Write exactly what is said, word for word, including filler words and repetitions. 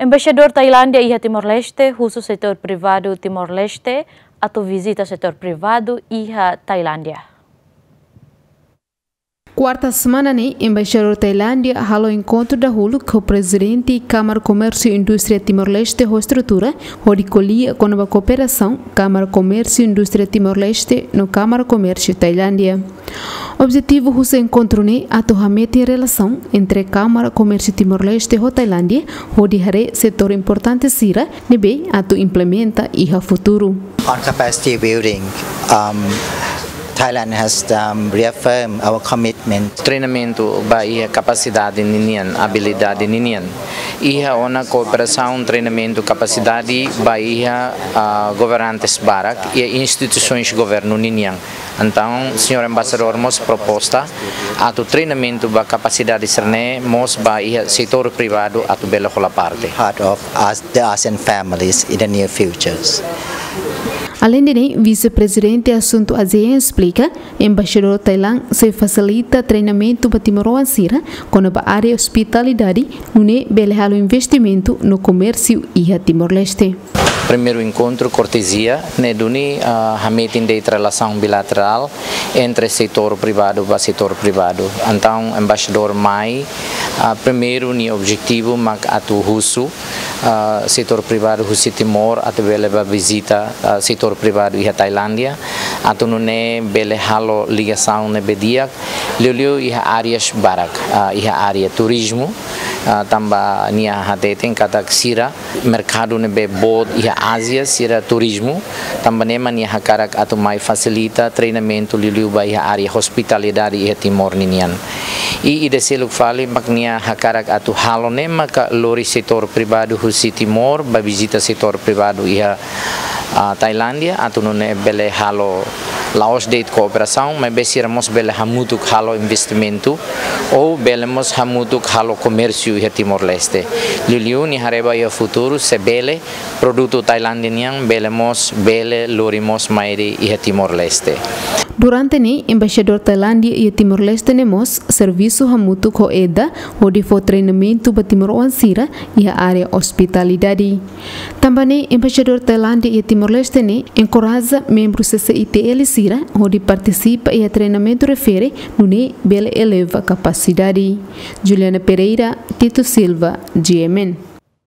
Embaixadór Tailándia iha Timor-Leste husu setór privadu Timor-Leste atu vizita setór privadu iha Tailándia. Kuarta semana ne'e, Embaixadór Tailándia halo enkontru dahuluk ho Prezidente Kámara Komérsiu Indústria Timor-Leste ho estrutura, hodi ko'alia kona-ba kooperasaun Kámara Komérsiu Indústria Timor-Leste no Kámara Komérsiu Tailándia. Objetivu husi enkontru ne'e atu hametin relasaun entre Kámara Komérsiu Timor-Leste ho Tailándia, hodi haree setór importante sira ne'ebé atu implementa iha futuru. On capacity building, um, Thailand has, um, reaffirmed our commitment. Treinamentu ba iha kapasidade ninian, abilidade ninian. Iha ona kooperasaun treinamentu kapasidade ba iha, ah, governantes barak, iha instituisoens governu ninian. Entaun, señór Embaixadór mós proposta atu treinamentu ba kapasidade sira-ne'e mós ba iha setór privadu atu bele hola parte. Part of us, the ASEAN families in the near futures. Alende ne'e, Vise-Prezidente Asuntu ASEAN esplika, Embaixadór Tailándia sei fasilita treinamentu ba timoroan sira kona-ba área ospitalidade, nune'e bele halo investimentu no komérsiu iha Timor-Leste. Primeiru enkontru kortezia, ne'e duni, ah, hametin de'it relasaun bilaterál entre setór privadu ba setór privadu. Entaun, Embaixadór mai, ah, primeiru nia objetivu mak atu husu, ah, setór privadu husi Timor atu bele ba vizita, ah, setór privadu iha Tailándia, atu nune'e bele halo ligasaun ne'ebé di'ak, liuliu iha áreas barak, ah, iha área turizmu, ah, tanba nia hateten katak sira merkadu ne'ebé boot iha Ázia sira turizmu, tanba ne'e mak nia hakarak atu mai fasilita treinamentu liuliu ba iha área ospitalidade iha Timor ninian. I ida seluk fali mak nia hakarak atu halo ne'e maka lori setór privadu husi Timor ba vizita setór privadu iha, ah, Tailándia, atu nune'e bele halo la'ós de'it kooperasaun, maibé sira mós bele hamutuk halo investimentu, ou bele mós hamutuk halo komérsiu iha Timor-Leste. Liuliu nia haree ba iha futuru, se bele, produtu Tailándia nian bele mós, bele lori mós mai de'it iha Timor-Leste. Durante ne'e, Embaixadór Tailándia iha Timor-Leste ne'e mós servisu hamutuk ho EDA, hodi fó treinamentu ba timoroan sira iha área ospitalidade. Tanba ne'e, Embaixadór Tailándia iha Timor-Leste ne'e enkoraja membru C C I T L sira hodi partisipa iha treinamentu refere, nune'e bele eleva kapasidade. Juliana Pereira, Tito Silva, G M N.